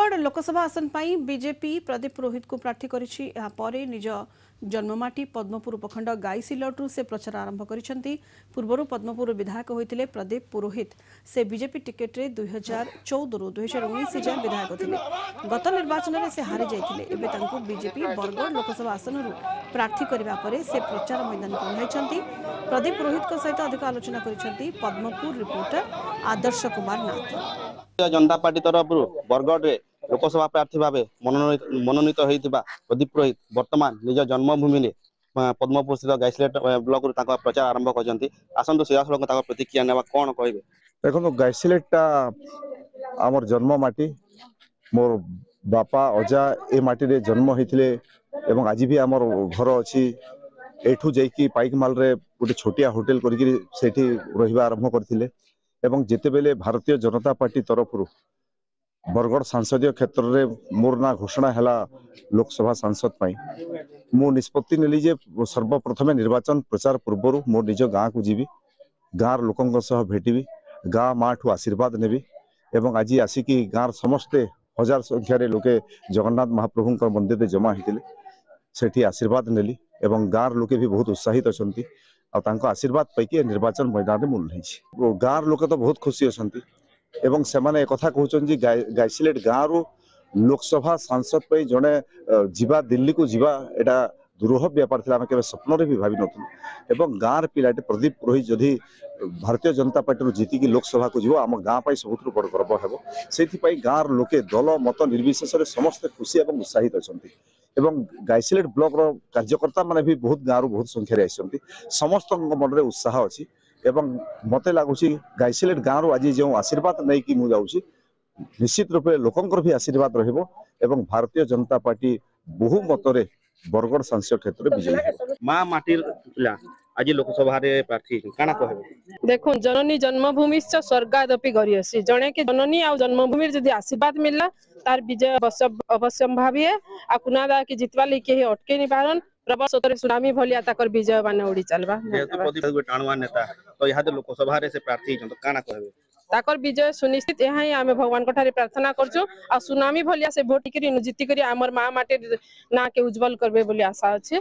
ବରଗଡ଼ ଲୋକସଭା ଆସନ ପାଇଁ ବିଜେପି ପ୍ରଦୀପ ପୁରୋହିତଙ୍କୁ ପ୍ରାର୍ଥୀ କରିଛି। ଏହାପରେ ନିଜ ଜନ୍ମମାଟି ପଦ୍ମପୁର ଉପଖଣ୍ଡ ଗାଇସିଲଟରୁ ସେ ପ୍ରଚାର ଆରମ୍ଭ କରିଛନ୍ତି। ପୂର୍ବରୁ ପଦ୍ମପୁର ବିଧାୟକ ହୋଇଥିଲେ ପ୍ରଦୀପ ପୁରୋହିତ। ସେ ବିଜେପି ଟିକେଟରେ 2014ରୁ 2019 ଯାଏଁ ବିଧାୟକ ଥିଲେ। ଗତ ନିର୍ବାଚନରେ ସେ ହାରି ଯାଇଥିଲେ। ଏବେ ତାଙ୍କୁ ବିଜେପି ବରଗଡ଼ ଲୋକସଭା ଆସନରୁ ପ୍ରାର୍ଥୀ କରିବା ପରେ ସେ ପ୍ରଚାର ମଇଦାନକୁ ଓହ୍ଲାଇଛନ୍ତି। ପ୍ରଦୀପ ପୁରୋହିତଙ୍କ ସହିତ ଅଧିକ ଆଲୋଚନା କରିଛନ୍ତି ପଦ୍ମପୁର ରିପୋର୍ଟର ଆଦର୍ଶ କୁମାର ନାଥ। ଜନତା ପାର୍ଟି ତରଫରୁ ବରଗଡ଼ରେ ଲୋକସଭା ପ୍ରାର୍ଥୀ ଭାବେ ମନୋନୀତ ହୋଇଥିବା ପ୍ରଦୀପ ପୁରୋହିତ ବର୍ତ୍ତମାନ ନିଜ ଜନ୍ମଭୂମିରେ ପଦ୍ମପୁର ସ୍ଥିତ ଗାଇସିଲେଟ ବ୍ଲକରୁ ତାଙ୍କ ପ୍ରଚାର ଆରମ୍ଭ କରିଛନ୍ତି। ଆସନ୍ତୁ ସିଧାସଳଖ ତାଙ୍କ ପ୍ରତିକ୍ରିୟା ନେବା, କଣ କହିବେ? ଦେଖନ୍ତୁ, ଗାଇସିଲେଟଟା ଆମର ଜନ୍ମ ମାଟି। ମୋର ବାପା ଅଜା ଏ ମାଟିରେ ଜନ୍ମ ହେଇଥିଲେ ଏବଂ ଆଜି ବି ଆମର ଘର ଅଛି। ଏଠୁ ଯାଇକି ପାଇକମାଲରେ ଗୋଟେ ଛୋଟିଆ ହୋଟେଲ କରିକିରି ସେଇଠି ରହିବା ଆରମ୍ଭ କରିଥିଲେ। ଏବଂ ଯେତେବେଳେ ଭାରତୀୟ ଜନତା ପାର୍ଟି ତରଫରୁ ବରଗଡ଼ ସଂସଦୀୟ କ୍ଷେତ୍ରରେ ମୋର ନାଁ ଘୋଷଣା ହେଲା ଲୋକସଭା ସାଂସଦ ପାଇଁ, ମୁଁ ନିଷ୍ପତ୍ତି ନେଲି ଯେ ସର୍ବପ୍ରଥମେ ନିର୍ବାଚନ ପ୍ରଚାର ପୂର୍ବରୁ ମୋ ନିଜ ଗାଁକୁ ଯିବି, ଗାଁର ଲୋକଙ୍କ ସହ ଭେଟିବି, ଗାଁ ମାଠୁ ଆଶୀର୍ବାଦ ନେବି। ଏବଂ ଆଜି ଆସିକି ଗାଁର ସମସ୍ତେ ହଜାର ସଂଖ୍ୟାରେ ଲୋକେ ଜଗନ୍ନାଥ ମହାପ୍ରଭୁଙ୍କ ମନ୍ଦିରରେ ଜମା ହେଇଥିଲେ, ସେଠି ଆଶୀର୍ବାଦ ନେଲି ଏବଂ ଗାଁର ଲୋକେ ବି ବହୁତ ଉତ୍ସାହିତ ଅଛନ୍ତି ଆଉ ତାଙ୍କ ଆଶୀର୍ବାଦ ପାଇକି ଏ ନିର୍ବାଚନ ମଇଦାନରେ ମୁଁ ଓହ୍ଲେଇଛି। ଗାଁର ଲୋକ ତ ବହୁତ ଖୁସି ଅଛନ୍ତି ଏବଂ ସେମାନେ ଏକଥା କହୁଛନ୍ତି ଯେ ଗାଇସିଲେଟ ଗାଁରୁ ଲୋକସଭା ସାଂସଦ ପାଇଁ ଜଣେ ଯିବା, ଦିଲ୍ଲୀକୁ ଯିବା, ଏଇଟା ଦୁରୂହ ବ୍ୟାପାର ଥିଲା। ଆମେ କେବେ ସ୍ୱପ୍ନରେ ବି ଭାବିନଥିଲୁ। ଏବଂ ଗାଁର ପିଲାଟେ ପ୍ରଦୀପ ପୁରୋହିତ ଯଦି ଭାରତୀୟ ଜନତା ପାର୍ଟିରୁ ଜିତିକି ଲୋକସଭାକୁ ଯିବ, ଆମ ଗାଁ ପାଇଁ ସବୁଥିରୁ ବଡ଼ ଗର୍ବ ହେବ। ସେଇଥିପାଇଁ ଗାଁର ଲୋକେ ଦଳ ମତ ନିର୍ବିଶେଷରେ ସମସ୍ତେ ଖୁସି ଏବଂ ଉତ୍ସାହିତ ଅଛନ୍ତି। ଏବଂ ଗାଇସିଲେଟ ବ୍ଲକର କାର୍ଯ୍ୟକର୍ତ୍ତା ମାନେ ବି ବହୁତ ଗାଁରୁ ବହୁତ ସଂଖ୍ୟାରେ ଆସିଛନ୍ତି। ସମସ୍ତଙ୍କ ମନରେ ଉତ୍ସାହ ଅଛି ଏବଂ ମତେ ଲାଗୁଛି ଗାଇସିଲେଟ ଗାଁରୁ ଆଜି ଯେଉଁ ଆଶୀର୍ବାଦ ନେଇକି ମୁଁ ଯାଉଛି, ନିଶ୍ଚିତ ରୂପେ ଲୋକଙ୍କର ବି ଆଶୀର୍ବାଦ ରହିବ ଏବଂ ଭାରତୀୟ ଜନତା ପାର୍ଟି ବହୁ ମତରେ ବରଗଡ଼ ସଂସଦୀୟ କ୍ଷେତ୍ରରେ ବିଜୟୀ ହେବ। ମା ମାଟିର ପିଲା ଆଜି ଲୋକସଭାରେ ପ୍ରାର୍ଥୀ ହେଇଛନ୍ତି, କାଣା କହିବେ? ଦେଖୁন, ଜନନୀ ଜନ୍ମଭୂମିଶ୍ଚ ସ୍ୱର୍ଗାଦପି ଗରୀୟସୀ। ଜଣେ କି ଜନନୀ ଆଉ ଜନ୍ମଭୂମିର ଯଦି ଆଶୀର୍ବାଦ ମିଳିଲା, ତାର ବିଜୟ ଅବଶ୍ୟମ୍ଭାବୀ। ଆଉ କୁନାଦା କି ଜିତବା ଲାଗି କେହି ଅଟକେଇ ନି ପାରନ୍। ପ୍ରବଳ ସ୍ରୋତରେ ସୁନାମି ଭଳିଆ ତାକର ବିଜୟ ମାନେ ଉଡି ଚାଲବା। ଯେହେତୁ ପ୍ରଦୀପ ଗୋଟେ ଟାଣୁଆ ନେତା, ତ ଇହାଦେ ଲୋକସଭାରେ ସେ ପ୍ରାର୍ଥୀ ହେଇଛନ୍ତି, କାଣା କହିବେ? ତାକର ବିଜୟ ସୁନିଶ୍ଚିତ, ଏହା ହିଁ ଆମେ ଭଗବାନଙ୍କ ଠାରେ ପ୍ରାର୍ଥନା କରୁଛୁ। ଆଉ ସୁନାମି ଭଳିଆ ସେ ଭୋଟ କରି ଜିତିକରି ଆମର ମା ମାଟିର ନାଁ କେ ଉଜ୍ଜଳ କରିବେ ବୋଲି ଆଶା ଅଛି।